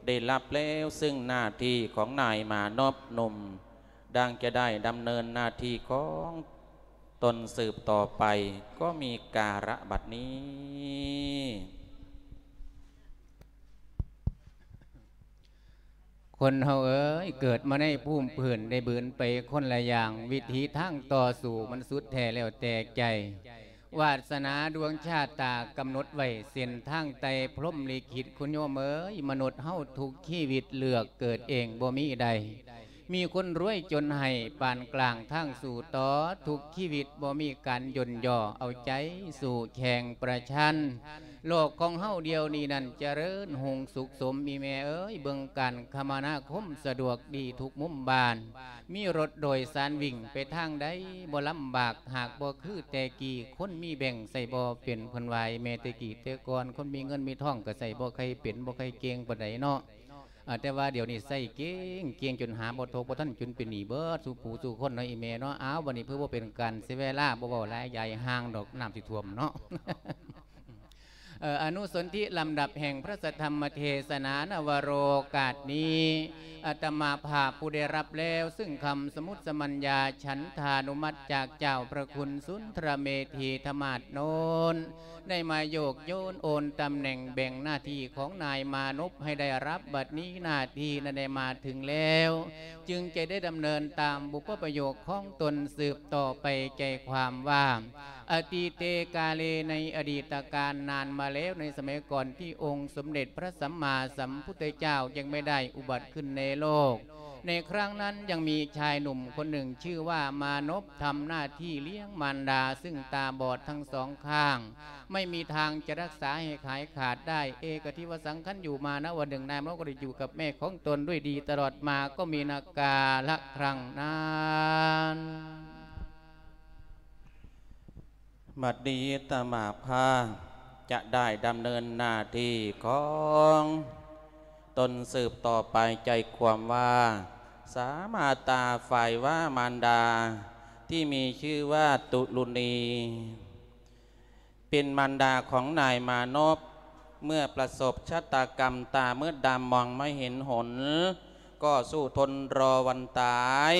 ໄດ້ຮັບແລ້ວເຊິ່ງໜ້າທີ່ຂອງນາຍມານົບໜຸ່ມ, ດັ່ງຈະໄດ້ດຳເນີນໜ້າທີ່ຂອງຕົນສືບຕໍ່ໄປ, ກໍມີກາລະບັດນີ້. ຄົນເຮົາເອີຍ ເກີດມາໃນພູມພື້ນໄດ້ບືນໄປຄົນລະຢ່າງ, ວິຖີທາງຕໍ່ສູ້ມັນສຸດແທ້ແລ້ວແຕ່ໃຈ. ວາດສະໜາດວງຊາຕາກຳນົດໄວ້ເສັ້ນທາງໄຕ່ພົມລິຂິດ, ຄຸນໂຍມເອີຍ ມະນຸດເຮົາທຸກຊີວິດເລືອກເກີດເອງບໍ່ມີໃດ, ມີຄົນລວຍຈົນໃຫ້ປານກລາງທາງສູ້ຕໍ່, ທຸກຊີວິດບໍ່ມີການຢ່ນຍໍ, ເອົາໃຈສູ້ແຂ່ງປະຊັນ. ໂລກຂອງເຮົາດຽວນີ້ນັ້ນຈະເລີນຮຸ່ງສຸກສົມ ອີ່ແມ່ເອີຍ, ເບິ່ງການຄະມະນາຄົມສະດວກດີທຸກມຸມບ້ານ, ມີລົດໂດຍສານວິ່ງໄປທາງໃດບໍ່ລຳບາກ, ຫາກບໍ່ຄືແຕ່ກີ້ ຄົນມີແບງໃຊ້ບໍ່ເປັນ. ເພິ່ນວ່າແມ່ແຕ່ກີ້ແຕ່ກ່ອນ ຄົນມີເງິນມີທອງກໍໃຊ້ບໍ່ຄ່ອຍເປັນ ບໍ່ຄ່ອຍເກັ່ງປານໃດເນາະ. ອາ ແຕ່ວ່າດຽວນີ້ໃຊ້ເກັ່ງ ເກັ່ງຈົນຫາບໍ່ທົກບໍ່ທັນ ຈົນເປັນໜີ້ເບິດສູ່ຜູ້ສູ່ຄົນເນາະ ອີ່ແມ່ເນາະ. ອ້າວ ບັດນີ້ເພື່ອບໍ່ເປັນການເສຍເວລາ ບໍ່ເວົ້າຫຼາຍ ຢ່າໃຫ້ຫ່າງດອກ ນ້ຳຊິຖ້ວມເນາະ. ເອີ ອະນຸສົນທິລຳດັບແຫ່ງພະສັດທຳມະເທສະໜາ ນະວະໂລກາດນີ້ ອາດຕະມາພາບຜູ້ໄດ້ຮັບແລ້ວເຊິ່ງຄຳສະມຸດສະມັນຍາ ສັນທານຸມັດຈາກເຈົ້າພະຄຸນສຸນທະລະເມຖີທະມາດໂນນ ໄດ້ມາໂຍກໂຍນໂອນຕຳແໜ່ງແບ່ງໜ້າທີ່ຂອງນາຍມານົບໃຫ້ໄດ້ຮັບບັດນີ້. ໜ້າທີ່ນັ້ນໄດ້ມາເຖິງແລ້ວ ຈຶ່ງຈະໄດ້ດຳເນີນຕາມບຸບປະໂຫຍກຂອງຕົນສືບຕໍ່ໄປ. ໃຈຄວາມວ່າ ອະຕີເຕກາເລ ໃນອະດີດຕະການນານມາແລ້ວ ໃນສະໄໝກ່ອນທີ່ອົງສົມເດັດພະສຳມາສຳພຸດທະເຈົ້າຍັງໄມ່ໄດ້ອຸບັດຂຶ້ນໃນໂລກ, ໃນຄັ້ງນັ້ນຍັງມີຊາຍໜຸ່ມຄົນໜຶ່ງຊື່ວ່າມານົບ ທຳໜ້າທີ່ລ້ຽງມານດາເຊິ່ງຕາບອດທັງສອງຂ້າງ, ໄມ່ມີທາງຈະຮັກສາໃຫ້ຫາຍຂາດໄດ້. ເອກະທິວະສັງຄັນຢູ່ມານະ ວັນໜຶ່ງນາຍມາກໍໄດ້ຢູ່ກັບແມ່ຂອງຕົນດ້ວຍດີຕະຫຼອດມາ ກໍມີນະກາລະຄັ້ງນັ້ນ. ບັດນີ້ອາດຕະມາພາບຈະໄດ້ດຳເນີນໜ້າທີ່ຂອງຕົນສືບຕໍ່ໄປ. ໃຈຄວາມວ່າ ສາມາຕາຝ່າຍວາມານດາ ທີ່ມີຊື່ວ່າຕຸລຸນີ ເປັນມານດາຂອງນາຍມານົບ ເມື່ອປະສົບຊະຕາກຳຕາມືດດຳມອງມາເຫັນຫົນ ກໍສູ້ທົນລໍວັນຕາຍ.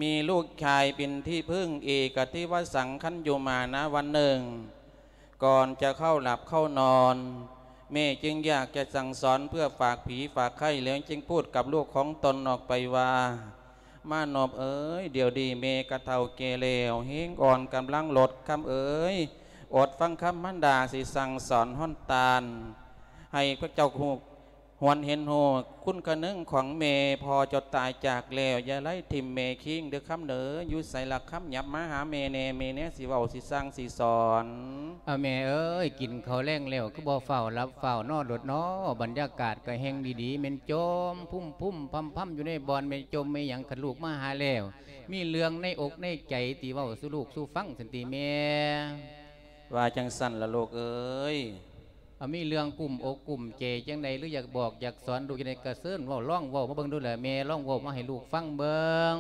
ມີລູກຊາຍເປັນທີ່ເພິ່ງ ເອກະທິວະສັງຄັນຢູ່ມານະ ວັນໜຶ່ງ ກ່ອນຈະເຂົ້າຫຼັບເຂົ້ານອນ ແມ່ຈຶ່ງຢາກຈະສັ່ງສອນເພື່ອຝາກຜີຝາກໄຂ້ ແລ້ວຈຶ່ງພູດກັບລູກຂອງຕົນອອກໄປວ່າ ມານົບເອີຍ, ດຽວນີ້ແມ່ກະເຖົ້າແກ່ແລ້ວ, ແຮງອ່ອນກຳລັງຫຼົດ, ຄຳເອີຍ, ອົດຟັງຄຳມານດາຊິສັ່ງສອນຮ້ອນຕານ, ໃຫ້ພວກເຈົ້າຮູ້ ຫວນເຫັນຮູ້ຄຸນຄະນຶງຂອງແມ່. ພໍ່ເຈົ້າຕາຍຈາກແລ້ວ ຢ່າໄລ່ຖິ້ມແມ່ຄີງເດີຄຳເດີ. ຢູ່ໃສລະຄຳ? ຫຍັບມາຫາແມ່ແດ່, ແມ່ແນ່ຊິເວົ້າ ຊິສັ່ງ ຊິສອນ. ເອົາແມ່ເອີຍ, ກິນເຂົ້າແລງແລ້ວ ຄືບໍ່ຟ້າວຫຼັບຟ້າວນອນໂລດນໍ? ບັນຍາກາດກໍແຮ່ງດີໆ, ແມ່ນຈົ່ມພຸ້ມໆພຳໆຢູ່ໃນບ່ອນ, ແມ່ນຈົ່ມແມ່ນຫຍັງ? ຄັນລູກມາຫາແລ້ວ ມີເລື່ອງໃນອົກໃນໃຈ ທີ່ເວົ້າສູ່ລູກສູ່ຟັງຊັ້ນຕິແມ່? ວ່າຈັ່ງຊັ້ນລະລູກເອີຍ. ອາ ມີເລື່ອງກຸ້ມອົກກຸ້ມໃຈຈັ່ງໃດ ຫຼື ຢາກບອກຢາກສອນລູກຈັ່ງໃດ ກະເຊີນເວົ້າ, ລອງເວົ້າມາເບິ່ງດູລະແມ່, ລອງເວົ້າມາໃຫ້ລູກຟັງເບິ່ງ.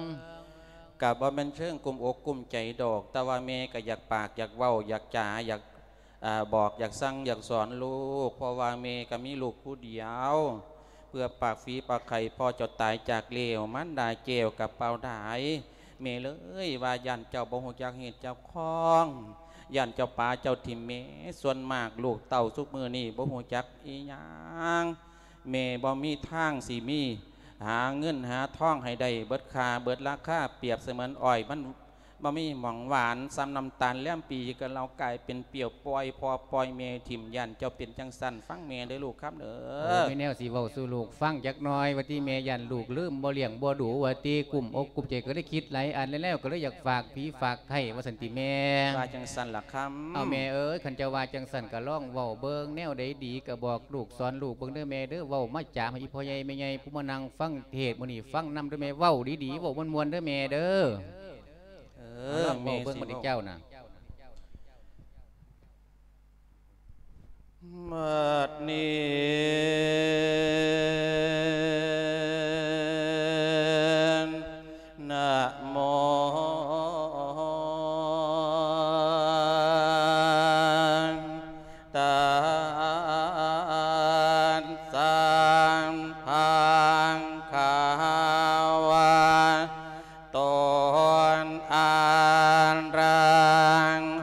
ກະບໍ່ແມ່ນເຊີງກຸ້ມອົກກຸ້ມໃຈດອກ, ແຕ່ວ່າແມ່ກະຢາກປາກ ຢາກເວົ້າ, ຢາກຈາ, ຢາກ ອາ ບອກ, ຢາກສັ່ງ, ຢາກສອນລູກ, ເພາະວ່າແມ່ກະມີລູກຜູ້ດຽວ. ເພື່ອປາກຝີປາກໄຂ່ ພໍ່ເຈົ້າຕາຍຈາກແລ້ວ, ມານດາແກ້ວກະເປົ່າດາຍ. ແມ່ເລີຍວ່າຢ້ານເຈົ້າບໍ່ຮູ້ຈັກເຫດຈັກຂອງ, ຢ້ານເຈົ້າປາເຈົ້າຖິ້ມແມ່. ສ່ວນມາກລູກເຕົ້າຊຸມື້ນີ້ບໍ່ຮູ້ຈັກອີ່ຫຍັງ, ແມ່ບໍ່ມີທາງຊິມີ ຫາເງິນຫາທອງໃຫ້ໄດ້ເບິດຄ່າເບິດລາຄາ, ປຽບສະເໝືອນອ້ອຍມັນບໍ່ມີໝ່ອງຫວານ, ສ່ຳນ້ຳຕານແລມປີກໍເລົ່າກາຍເປັນປ່ຽວ, ປ່ອຍພໍ່ປ່ອຍແມ່ຖິ້ມ. ຢ້ານເຈົ້າເປັນຈັ່ງຊັ້ນ, ຟັງແມ່ເດີລູກຄຳເດີ. ໂອ້ ມີແນວຊິເວົ້າສູ່ລູກຟັງຈັກໜ່ອຍວ່າຕິແມ່, ຢ້ານລູກລືມ, ບໍ່ລ້ຽງບໍ່ດູວ່າຕິ, ກຸ້ມອົກກຸ້ມໃຈ ກໍໄດ້ຄິດຫຼາຍອັນແລ້ວ, ກໍເລີຍຢາກຝາກຜີຝາກໄຂ້ວ່າຊັ້ນຕິແມ່. ວ່າຈັ່ງຊັ້ນລະຄຳ. ເອົາແມ່ເອີຍ, ຄັນເຈົ້າວ່າຈັ່ງຊັ້ນກໍລອງເວົ້າເບິ່ງ, ແນວໃດດີກໍບອກລູກສອນລູກເບິ່ງເດີແມ່ເດີ. ເວົ້າມາຈາໃຫ້ອີ່ພໍ່ໃຫຍ່ແມ່ໃຫຍ່ຜູ້ມານັ່ງຟັງເທດມື້ນີ້ຟັງນຳເດີແມ່, ເວົ້າດີໆ ເວົ້າມ່ວນໆເດີແມ່ເດີ. ເອີ ເອົາລອງເວົ້າເບິ່ງບັດນີ້ເຈົ້ານະ. ບັດນີ້ ນະໂມ ຕັດສະ ພັງຄາວະໂຕ ອະລະ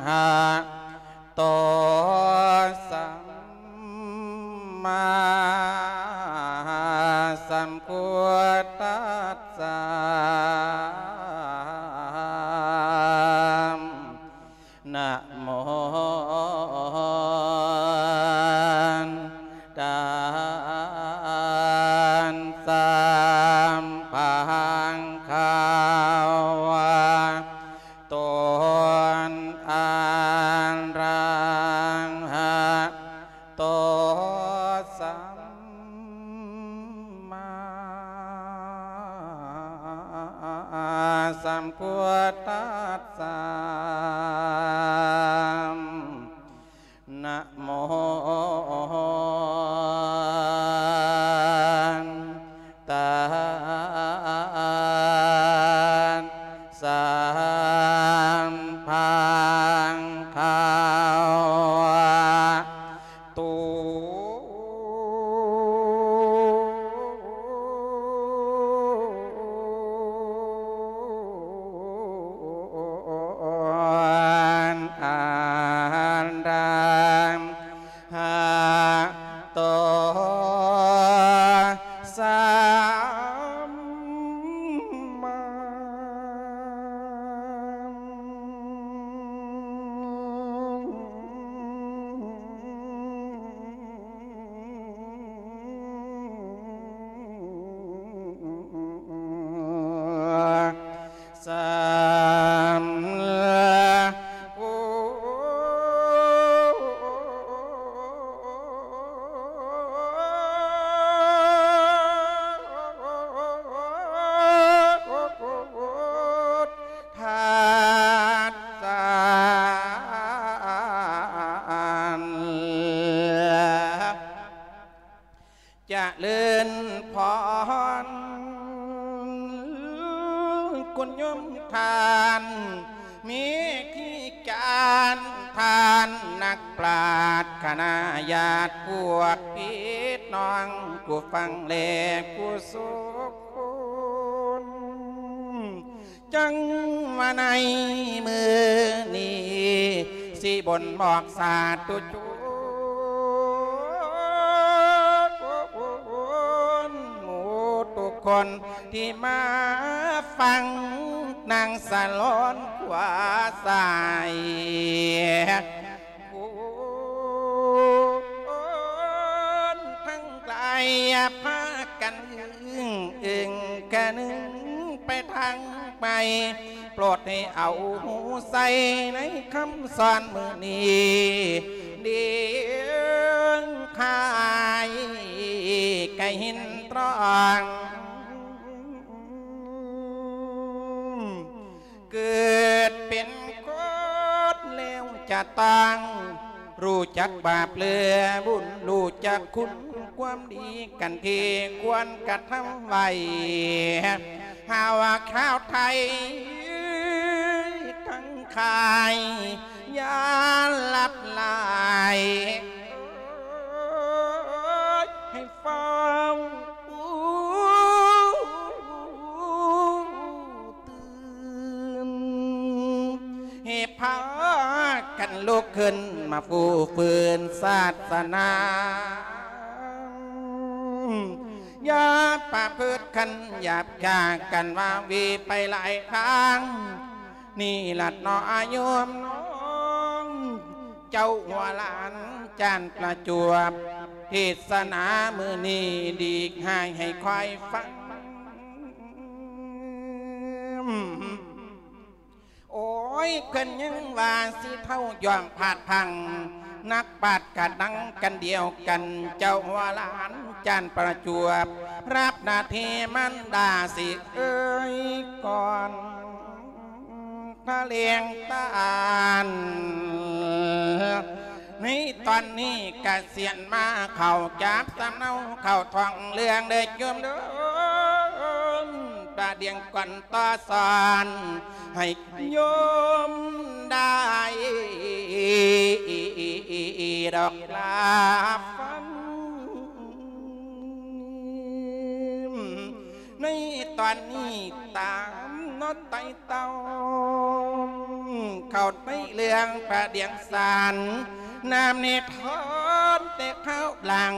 ຫະໂຕ ສຳມາສຳພຸດທັດສະ ນະໂມຕັດສະ ພັງຄາວະໂຕ ອະລະຫະໂຕ ສຳມາສຳພຸດທັດສະ ນະໂມຕັດສະ ພັງຄາວະໂຕ ອະລະຫະໂຕ ສຳມາສຳພຸດທັດສະ ຈະເລີນພອນ ຄຸນໂຍມທ່ານ ເມທີການ ທ່ານນັກປາດ ຄະນະຍາດພວກພີ່ນ້ອງ ຜູ້ຟັງແລຜູ້ສຸກຄົນ. ຈັ່ງວ່າໃນມື້ນີ້ ຊິບົ່ນບອກສາທຸຊົນ ໝູ່ທຸກຄົນທີ່ມາຟັງ ນາງສະຫຼອນຂວາຊ້າຍ ຄົນທັງຫຼາຍພາກັນອຶ້ງເອີງກະນຶງໄປທາງໃໝ່ ໂປດໃຫ້ເອົາໃສ່ໃນຄຳສອນມື້ນີ້ ເດງຂາຍກະເຫັນຕອງ ເກີດເປັນຄົນແລ້ວຈະຕ້ອງ ຮູ້ຈັກບາບເຫຼືອບຸນ ຮູ້ຈັກຄຸນຄວາມດີກັນທີ່ຄວນກະທຳໄວ້ ຫາວ່າຄາວໄທທັງຂາຍ ຢ່າລັບຫຼາຍ ໃຫ້ຟ້າວ ຕື່ນ ໃຫ້ພາກັນລຸກຂຶ້ນມາຟູຟື້ນສາສະໜາ ຢ່າປະພຶດຄັນຫຍາບກາກັນ ວ່າວີໄປຫຼາຍທາງ ນີ້ລະເນາະໂຍມນ້ອງ ເຈົ້າຫົວຫຼານຈານປະຈວບ ເທດສະໜາມື້ນີ້ດີກໃຫ້ ໃຫ້ຄອຍຟັງ ໂອ້ຍ ເພິ່ນຍັງວ່າຊິເຖົ້າຢ່ອມພາດພັງ ນັກປາດກະດັງກັນດຽວກັນ ເຈົ້າຫົວຫຼານຈານປະຈວບ ຮັບໜ້າທີ່ມານດາຊິເອີຍກ່ອນ ທະແຫຼງຕານ ໃນຕອນນີ້ກະສຽນມາເຂົ້າຈັບສຳເນົາເຂົ້າທ້ອງເລື່ອງເດີໂຍມເດີ ຕາດຽງກ່ອນຕໍ່ສອນ ໃຫ້ໂຍມໄດ້ດອກລາຟັງ. ໃນຕອນນີ້ຕາມເນາະໄຕ່ເຕົ້າ ເຂົ້າໃນເລື່ອງພະດຽງສານ ນຳນິທານແຕ່ຄາວຫຼັງ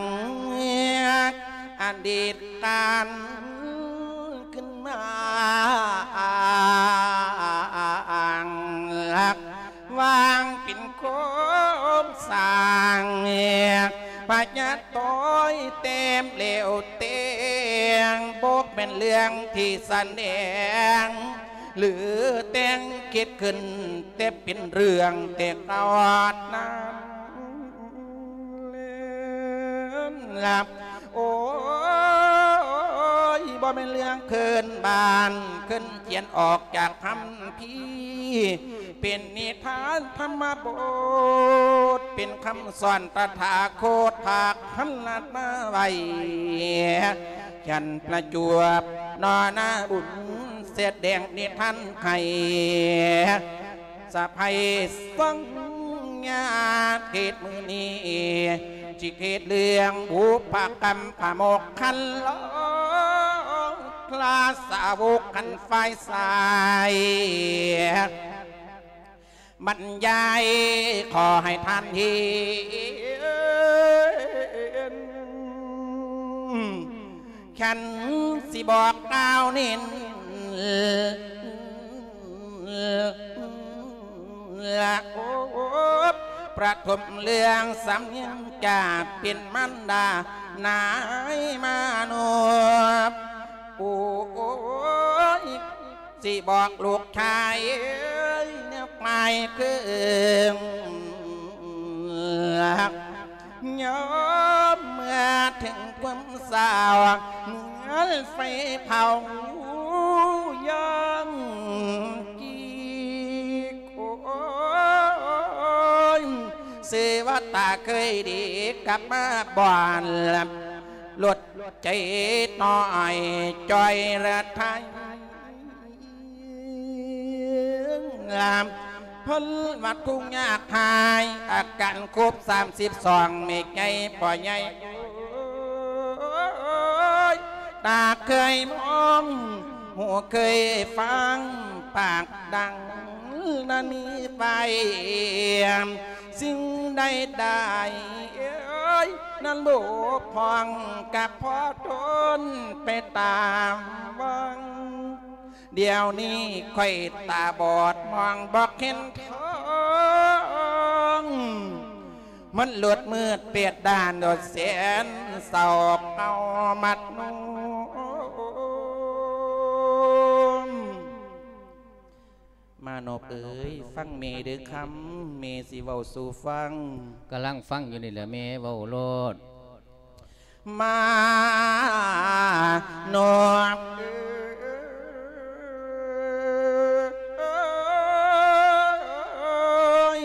ອະດີດການຂຶ້ນມາອ້າງຫຼັກ ວາງເປັນໂຄງສ້າງ ພະຍາຕ້ອຍແຕ້ມແລ້ວແຕ່ງ ບໍ່ແມ່ນເລື່ອງທີ່ສະແດງ ຫຼືແຕ່ງຄິດຂຶ້ນ ແຕ່ເປັນເລື່ອງແຕ່ກ່ອນນັ້ນລະ. ໂອ້ຍ ບໍ່ແມ່ນເລື່ອງເຄື່ອນບ້ານ ເຄື່ອນຂຽນອອກຈາກຄຳພີ ເປັນນິທານທຳມະບົດ ເປັນຄຳສອນຕະຖາຄົດພາກພັນລັດມາໄວ້ ແກ່ນປະຈວບ ນໍນາບຸນ ສະແດງນິທານໃຫ້ ສະໄພສັງຍາເທດມື້ນີ້ ຊິເທດເລື່ອງບຸບພະກຳພະມົກຄັນລອງ ລາຊາວົກຄັນຝ່າຍຊ້າຍ ບັນຍາຍຂໍໃຫ້ທ່ານເຫັນ ຄັນຊິບອກກ່າວເນັ້ນ ລະໂອບ ປະຖົມເລື່ອງສຳນຽງຈາກເປັນມານດານາຍມະນຸດ ໂອ້ຍ ຊິບອກລູກຊາຍເອີຍ ແນວໝາຍເຄິ່ງ ຍາມເມື່ອເຖິງຄວາມສາວ ເໝືອນໄຟເຜົາຢ່າງກີກ ໂອ້ຍ ເສວະຕາເຄີຍດີ ກັບມາບ່ອນ ລົດໃຈນ້ອຍຈ່ອຍລະໄທ ພົ້ນວັດທຸກຍາກຫາຍ ອາການຄົບສາມສິບສອງ ແມ່ໃຫຍ່ພໍ່ໃຫຍ່ ຕາເຄີຍມອງ ຫູເຄີຍຟັງ ປາກດັງນັ້ນມີໄປ ສິ່ງໃດໆ ນັ້ນບົກຜ່ອງ ກະພໍທົນໄປຕາມວັງ ດຽວນີ້ຂ້ອຍຕາບອດ ມອງບໍ່ເຫັນທາງ ມັນມືດແປດດ້ານ ໂດດແສນເສົ້າເອົາມັດນຸ່ມ ມານົບເອີຍ ຟັງແມ່ເດີຄຳ ແມ່ຊິເວົ້າສູ່ຟັງ ກຳລັງຟັງຢູ່ນີ້ແຫຼະແມ່ ເວົ້າໂລດ ມານົບເອີຍ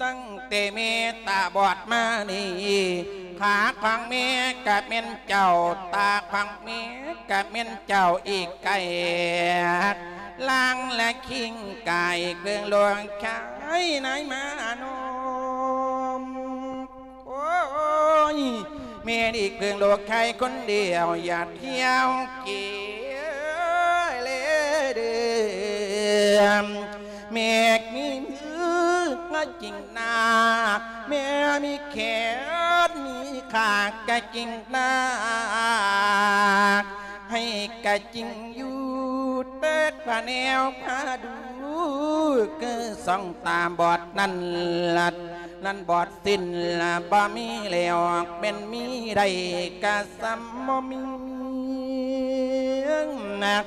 ຕັ້ງແຕ່ແມ່ຕາບອດມານີ້ ຂາຂອງແມ່ກະແມ່ນເຈົ້າ ຕາຂອງແມ່ກະແມ່ນເຈົ້າອີກໄກ ລາງລະຄີງກາຍເຄື່ອງຫຼວງຄາຍນາຍມານົມ ໂອ້ຍ ແມ່ນີ້ເພິ່ງໂລກໄທຄົນດຽວ ຢ່າທ່ຽວເກເລເດີມ ແມ່ມີມືກະຈິງນາ ແມ່ມີແຂນມີຂາກະຈິງນາ ໃຫ້ກະຈິງຢູ່ແຕ່ກວ່າແນວພາດູ ຄືສອງຕາບອດນັ້ນລະ ນັ້ນບອດສິ້ນລະ ບໍ່ມີແລ້ວ ແມ່ນມີໄດ້ກະສ່ຳບໍ່ມີນະ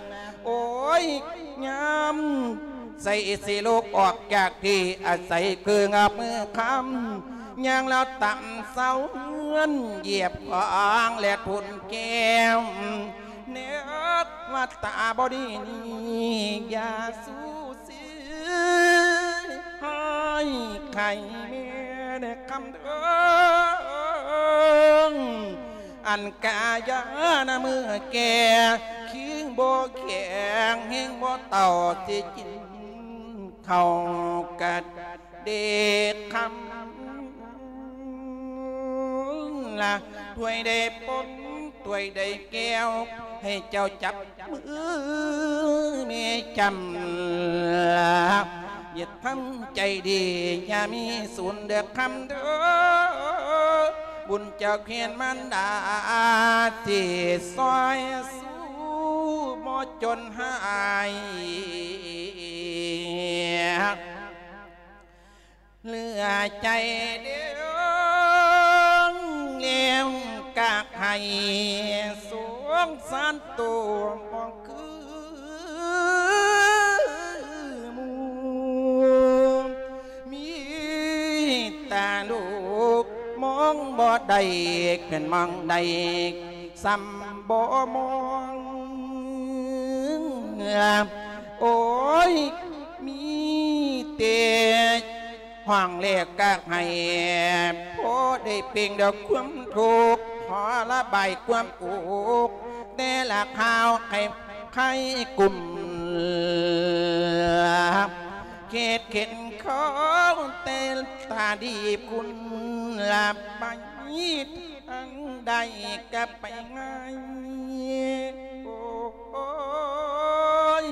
ໂອ້ຍ ຍາມໃສຊິລຸກອອກຈາກທີ່ອາໄສ ເພິ່ງເອົາມືຄ້ຳ ຍ່າງລາວຕຳເສົາເຮືອນ ຢຽບຂອງແລະທຸນແກ້ວ ແນກວ່າຕາບໍ່ດີນີ້ ຢ່າສູສີ ໃຫ້ໄຂ່ແມ່ນະຄຳເດີ ອັນກາຍານະເມື່ອແກ່ ຄີງບໍ່ແຂງແຮງບໍ່ເຕົ່າ ຊິກິນເຂົ້າກະເດກຄຳລະ ຖ້ວຍໄດ້ປົນ ຖ້ວຍໃດແກ້ວ ໃຫ້ເຈົ້າຈັບມືແມ່ຈຳ ຢ່າທຳໃຈດີ ຢ່າມີສູນເດີຄຳເດີ ບຸນເຈົ້າແຄນມານດາ ຊິຊ່ອຍຊູ ບໍ່ຈົນຫາຍ ເຫຼືອໃຈເດີ ແລ້ວກະໃຫ້ສົງສານໂຕ ບໍ່ຄືໝູ່ ມີແຕ່ລູກມອງບໍ່ໄດ້ ເພິ່ນມອງໄດ້ ສ່ຳບໍ່ມອງ ໂອ້ຍ ມີແຕ່ຮ້ອງແລ້ວກະໄຫ້ ພໍໄດ້ເປັ່ງດອກຄວາມທຸກ ພໍລະບາຍຄວາມອຸກ ແຕ່ລະຄາວໄຂ້ ໄຂ້ກຸ້ມ ເຂດເຂັນເຂົາ ແຕ່ຕາດີບຄຸນລະໄປ ທາງໃດກະໄປງ່າຍ ໂອ້ຍ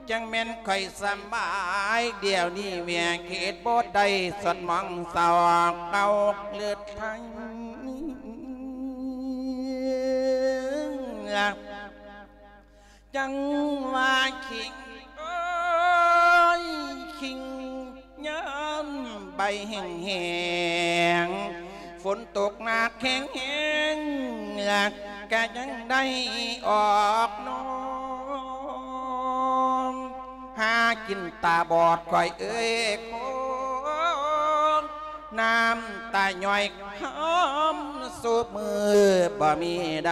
ຈັ່ງແມ່ນຂ້ອຍສະບາຍ ດຽວນີ້ແມ່ເຮັດບໍ່ໄດ້ ສອດມອງສອກເອົາເລືອດໄທ ຈັ່ງວ່າຄີງ ໂອ້ຍ ຄີງ ຍາມໃບແຫ້ງໆ ຝົນຕົກໜັກແຮງໆ ກະຍັງໄດ້ອອກນອນ ຫາກິນຕາບອດຂ້ອຍເອີຍ ໂອ້ ນ້ຳຕາຍ້ອຍຫອມສູບມື ບໍ່ມີໃດ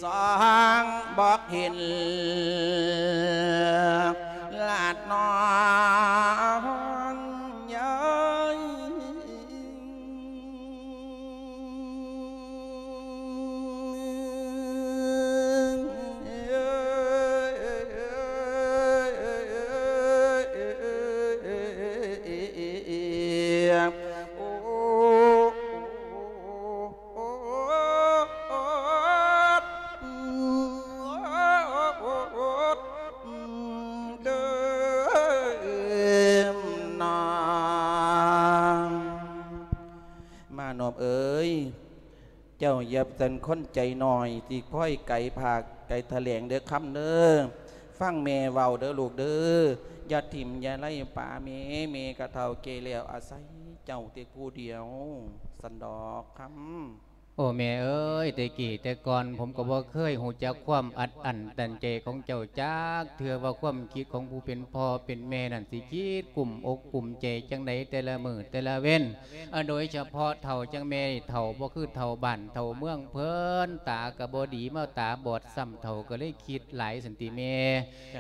ສອງບໍ່ເຫັນ ລາດນອນຍາຍ ໂອ້ ເດີມນາ ມານອບເອີຍ ເຈົ້າຢ່າຊັ້ນຄົນໃຈນ້ອຍ ຊິຄອຍໄກພາກໄກຖະແຫຼງເດີຄຳເດີ ຟັງແມ່ເວົ້າເດີລູກເດີ ຢ່າຖິ້ມຢ່າໄລ່ປາແມ່ ແມ່ກະເຖົ້າແກ່ແລ້ວ ອາໄສເຈົ້າແຕ່ຜູ້ດຽວ ຊັ້ນດອກຄຳ. ໂອ້ ແມ່ເອີຍ ແຕ່ກີ້ແຕ່ກ່ອນ ຜົມກໍບໍ່ເຄີຍຮູ້ຈັກຄວາມອັດອັ້ນຕັນໃຈຂອງເຈົ້າຈັກເທື່ອ ວ່າຄວາມຄິດຂອງຜູ້ເປັນພໍ່ເປັນແມ່ນັ້ນ ຊິຄິດກຸ້ມອົກກຸ້ມໃຈຈັ່ງໃດແຕ່ລະມື້ແຕ່ລະເວັນ ອາ ໂດຍສະເພາະເຖົ້າຈັ່ງແມ່ນີ້ ເຖົ້າບໍ່ຄືເຖົ້າບ້ານເຖົ້າເມືອງເພິ່ນ ຕາກໍບໍ່ດີ ມາຕາບອດຊ້ຳ ເຖົ້າກໍເລີຍຄິດຫຼາຍຊັ້ນຕິແມ່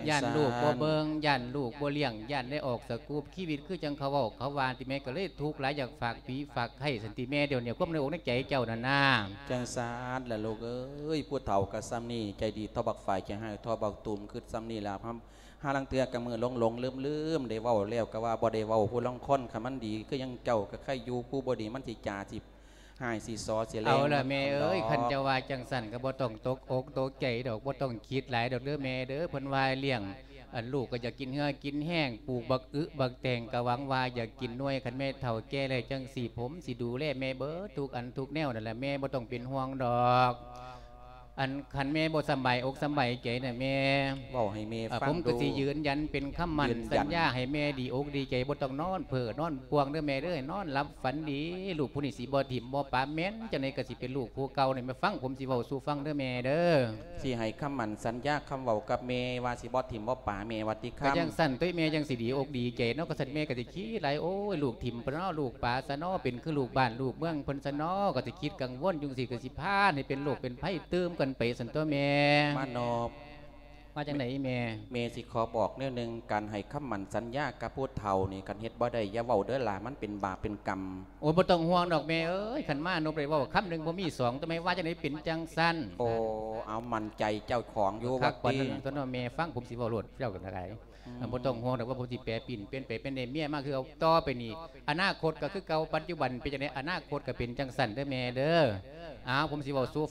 ຢ້ານລູກບໍ່ເບິ່ງ ຢ້ານລູກບໍ່ລ້ຽງ ຢ້ານໄດ້ອອກສະກູບ ຊີວິດຄືຈັ່ງເຂົາເວົ້າເຂົາວ່າຕິແມ່ ກໍເລີຍທຸກຫຼາຍ ຢາກຝາກຜີຝາກໄຂ້ຊັ້ນຕິແມ່ ດຽວນີ້ຄວາມໃນອົກໃນໃຈເຈົ້ານັ້ນນາ. ຈັ່ງຊັ້ນລະລູກເອີຍ ຜູ້ເຖົ້າກໍຊ່ຳນີ້ ໃຈດີທໍ່ບັກຝ້າຍ ໃຈຮ້າຍທໍ່ບັກຕູມ ຄິດຊ່ຳນີ້ລະ ຫາລາງເທື່ອກໍມືຫຼົງໆລືມໆ ໄດ້ເວົ້າແລ້ວກໍວ່າບໍ່ໄດ້ເວົ້າ ຜູ້ລາງຄົນຄັນມັນດີຄືຫຍັງເຈົ້າກໍໃຄ່ຢູ່ ຜູ້ບໍ່ດີມັນຊິຈາຊິ ຮ້າຍຊິສໍ້ຊິແລງ ເອົາລະແມ່ເອີຍ ເນາະ ຄັນເຈົ້າວ່າຈັ່ງຊັ້ນກໍບໍ່ຕ້ອງຕົກອົກຕົກໃຈດອກ ບໍ່ຕ້ອງຄິດຫຼາຍດອກເດີແມ່ເດີ ເພິ່ນວ່າລ້ຽງ ອັນລູກກໍຢາກກິນເຫື່ອກິນແຮງ ປູກບັກອຶບັກແຕງກໍຫວັງວ່າຢາກກິນໜ່ວຍ ຄັນແມ່ເຖົ້າແກ່ແລ້ວຈັ່ງຊີ້ ຜົມຊິດູແລແມ່ເບິດທຸກອັນທຸກແນວນັ້ນລະ ແມ່ບໍ່ຕ້ອງເປັນຫ່ວງດອກ. ອັນຄັນແມ່ບໍ່ສຳບາຍອົກສຳບາຍໃຈນະແມ່ ເວົ້າໃຫ້ແມ່ ເອີ ຟັງດູ ຜົມກໍຊິຢືນຢັນເປັນຄຳໝັ້ນ ຢືນຢັນ ສັນຍາໃຫ້ແມ່ດີອົກດີໃຈ ບໍ່ຕ້ອງນອນເພີ້ນອນປ່ວງເດີແມ່ເດີ ໃຫ້ນອນຫຼັບຝັນດີ ລູກຜູ້ນີ້ຊິບໍ່ຖິ້ມບໍ່ປະ ແມ່ນຈັ່ງໃດກໍຊິເປັນລູກຜູ້ເກົ່ານີ້ ແມ່ຟັງ ຜົມຊິເວົ້າສູ່ຟັງເດີແມ່ເດີ. ຊິໃຫ້ຄຳໝັ້ນສັນຍາຄຳເວົ້າກັບແມ່ວ່າຊິບໍ່ຖິ້ມບໍ່ປະແມ່ວ່າຕິຄຳ ກໍຈັ່ງຊັ້ນຕົວະແມ່ ຈັ່ງຊິດີອົກດີໃຈເນາະ ກໍຊັ້ນແມ່ກໍຊິຄິດຫຼາຍ ໂອ້ຍ ລູກຖິ້ມປະເນາະ ລູກປະຊະເນາະ ເປັນຄືລູກບ້ານລູກເມືອງເພິ່ນຊະເນາະ ກໍຊິຄິດກັງວົນຢູ່ຊີ້ ກໍຊິພາໃຫ້ເປັນໂລກເປັນໄພຕື່ມກັນໄປຊັ້ນຕົວະແມ່. ມານອບ ວ່າຈັ່ງໃດແມ່? ແມ່ຊິຂໍບອກແນວໜຶ່ງ ການໃຫ້ຄຳໝັ້ນສັນຍາກັບຜູ້ເຖົ້ານີ້ ຄັນເຮັດບໍ່ໄດ້ຢ່າເວົ້າເດີຫຼ້າ ມັນເປັນບາບເປັນກຳ. ໂອ້ຍ ບໍ່ຕ້ອງຫ່ວງດອກແມ່ເອີຍ ຄັນມານົບໄດ້ເວົ້າຄຳໜຶ່ງບໍ່ມີສອງ ແຕ່ແມ່ວ່າຈັ່ງໃດເປັນຈັ່ງຊັ້ນ. ໂອ້ ເອົາໝັ້ນໃຈເຈົ້າຂອງຢູ່ ຄັກປານນັ້ນ ວ່າຕິ ຕົວະເນາະແມ່ ຟັງຜົມຊິເວົ້າໂລດ ເຈົ້າກໍໄດ້. ອ່າ ບໍ່ຕ້ອງຫ່ວງດອກວ່າ ເພິ່ນຊິແປປິ່ນ ປ່ຽນໄປເປັນໄດ້ເມຍມາຄືເກົ່າ. ຕໍ່ໄປນີ້ ອະນາຄົດກໍຄືເກົ່າ ປັດຈຸບັນເປັນຈັ່ງໃດ ອະນາຄົດກໍເປັນຈັ່ງຊັ້ນເດີແມ່ເດີ. ອ້າວ ຜົມຊິເວົ້າສູ່